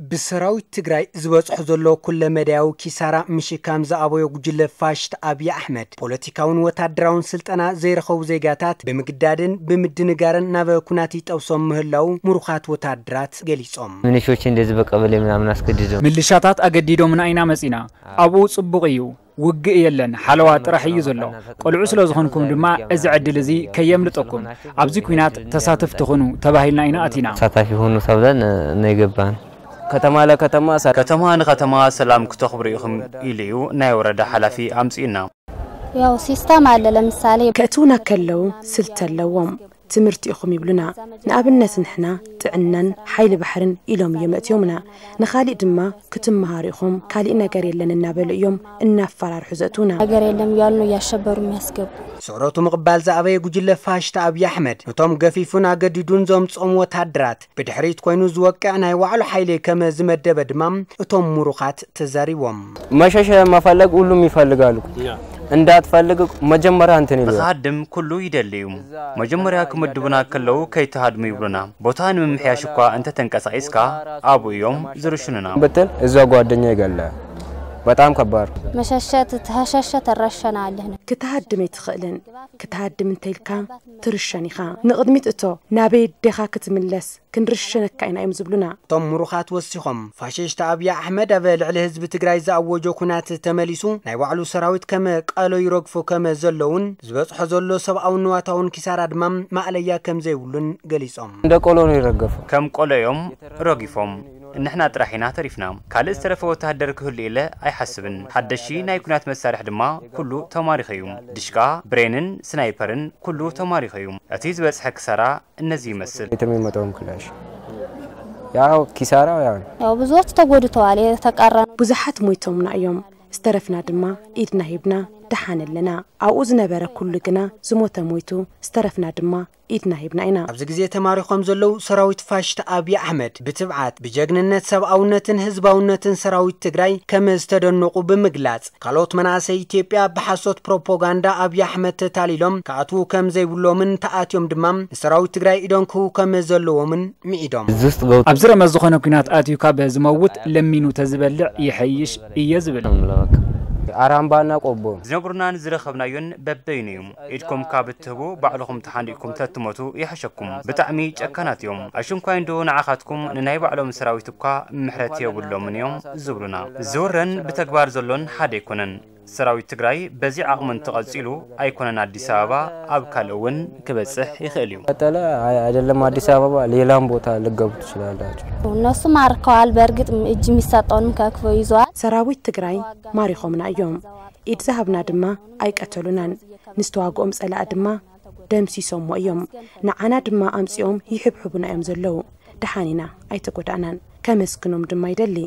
ብሰራዊት ትግራይ ዝበፅሖ ዘሎ ኩለ መዳያዊ ኪሳራ ምሽካም ዝኣበዮ ጉጅለ ፋሽስት ኣብይ ኣሕመድ፣ ፖለቲካውን ወታደራውን ስልጠና ዘይረኸቡ ዜጋታት ብምግዳድን ብምድንጋርን ናብ ኩናት ይጠብሶም ምህላው ምሩኻት ወታደራት ገሊጾም። ምንሾች እንደዚህ በቀበሌ ምናምን አስገድደው ምልሻታት ኣገዲዶምና ኢና መጺና። ኣብኡ ጽቡቕ እዩ፣ ውግእ የለን፣ ሓለዋ ጥራሕ እዩ ዘሎ። ቆልዑ ስለ ዝኾንኩም ድማ እዚ ዕድል እዚ ከየምልጠኩም፣ ኣብዚ ኲናት ተሳተፍቲ ኹኑ ተባሂልና ኢና ኣቲና። ተሳታፊ ሆኑ ተብለን ነው የገባን። ከተማ ለከተማ ሰ- ከተማ ንከተማ ሰላም ክተኽብሩ ኢኹም ኢሉ እዩ ናይ ወረዳ ሓላፊ ኣምጺኡና። ያው ሲስተም አለ። ለምሳሌ ከእትውና ከለዉ ስልት ኣለዎም። ትምህርቲ ኢኹም ይብሉና። ንኣብነት ንሕና ጥዕናን ሓይሊ ባሕርን ኢሎም እዮም ኣእትዮምና። ንኻሊእ ድማ ክትመሃሩ ኢኹም፣ ካሊእ ነገር የለን እናበሉ እዮም እናፈራርሑ ዘእትውና። ነገር የለም እያሉ ነው እያሸበሩ የሚያስገቡ። ስዕረቱ ምቕባል ዝኣበየ ጉጅለ ፋሽስት ኣብይ ኣሕመድ፣ እቶም ገፊፉን ኣገዲዱን ዘምጽኦም ወታደራት ብድሕሪት ኮይኑ ዝወቅዕ ናይ ባዕሉ ሓይሊ ከም ዝመደበ ድማ እቶም ምሩኻት ተዛሪቦም። መሸሸ መፈለግ ሁሉም ይፈልጋሉ። እንዳትፈልግ መጀመርያ እንትን ይሉ ንክሃድም ኩሉ ይደሊ እዩ። መጀመርያ ክምድቡና ከለዉ ከይትሃድሙ ይብሉና። ቦታ ንምምሕያሽ እኳ እንተተንቀሳቒስካ ኣብኡ እዮም ዝርሽኑና። ብትል እዛ ጓደኛ ይገለ በጣም ከባድ መሸሸት ተሸሸ ተረሸናለህ። ክትሃድም ኣይትኽእልን። ክትሃድም እንተኢልካ ትርሸን ኢኻ። ንቕድሚት እቶ፣ ናበይ ኣዴኻ ክትምለስ ክንርሸነካ ኢና እዮም ዝብሉና። እቶም ምሩኻት ወሲኾም፣ ፋሽስት ኣብይ ኣሕመድ ኣብ ልዕሊ ህዝቢ ትግራይ ዝኣወጆ ኩናት ተመሊሱ ናይ ባዕሉ ሰራዊት ከም ቀሎ ይረግፉ ከም ዘለውን ዝበፅሖ ዘሎ ሰብኣውን ንዋታውን ኪሳራ ድማ ማእለያ ከም ዘይብሉን ገሊፆም። እንደ ቆሎ ነው የረገፈው። ከም ቆሎ እዮም ረጊፎም። ንሕና ጥራሕ ኢና ተሪፍና። ካልእ ዝተረፈ ወተሃደር ክህሉ ኢለ ኣይሓስብን። ሓደሽቲ ናይ ኩናት መሳርሒ ድማ ኩሉ ተማሪኹ እዩ። ድሽቃ፣ ብሬንን ስናይፐርን ኩሉ ተማሪኹ እዩ። እቲ ዝበፅሐ ክሳራ እነዚ ይመስል። የትም የመጣውም ክላሽ ያው ኪሳራው ያው ነው። ያው ብዙዎች ተጎድተዋል። የተቀረኑ ብዙሓት ሞይቶምና እዮም፣ ዝተረፍና ድማ ኢድና ሂብና ደሓን ኣለና። ኣብኡ ዝነበረ ኩሉ ግና ዝሞተ ሞይቱ፣ ዝተረፍና ድማ ኢድና ሂብና ኢና። ኣብዚ ግዜ ተማሪኾም ዘለዉ ሰራዊት ፋሽስት ኣብይ ኣሕመድ ብትብዓት ብጀግንነት ሰብኣውነትን ህዝባውነትን ሰራዊት ትግራይ ከም ዝተደነቑ ብምግላፅ፣ ካልኦት መናእሰይ ኢትዮጵያ ብሓሶት ፕሮፓጋንዳ ኣብይ ኣሕመድ ተታሊሎም ክኣትዉ ከም ዘይብሎምን ተኣትዮም ድማ ንሰራዊት ትግራይ ኢዶም ክህቡ ከም ዘለዎምን ምዒዶም። እዚህ ውስጥ ገብቶ ኣብዚ ረመት ዝኾነ ኲናት ኣትዩ ካብ ዝመውት ለሚኑ ተዝበልዕ ይሐይሽ እየ ዝብል። አራምባና ቆቦ ዝነግሩናን ዝረኸብናዮን በበይኑ እዩ። ኢድኩም ካብ እትህቡ ባዕልኹም ተሓንዲእኩም ተትሞቱ ይሓሸኩም። ብጣዕሚ ጨካናት እዮም። ኣሽንኳይ እንዶ ንዓኻትኩም ንናይ ባዕሎም ሰራዊት እኳ ምሕረት የብሎምን እዮም ዝብሉና። ዝውረን ብተግባር ዘሎን ሓደ ኣይኮነን። ሰራዊት ትግራይ በዚ ዓቕሚ እንተቐጺሉ ኣይኮነን ኣዲስ ኣበባ ኣብ ካልእ እውን ክበጽሕ ይኽእል እዩ። ቀጠለ አይ- አይደለም አዲስ አበባ ሌላም ቦታ ልገቡ ትችላላችሁ። እነሱ ማርከዋል። በእርግጥ እጅ የሚሰጠውንም ከክፎ ይዘዋል። ሰራዊት ትግራይ ማሪኾምና እዮም። ኢድ ዝሃብና ድማ ኣይቀተሉናን። ንዝተዋግኦም ጸላእ ድማ ደምሲሶሞ እዮም። ንዓና ድማ ኣምጺኦም ይሕብሕቡና እዮም ዘለዉ። ደሓን ኢና፣ ኣይተጎዳእናን። ከመስግኖም ድማ ይደሊ።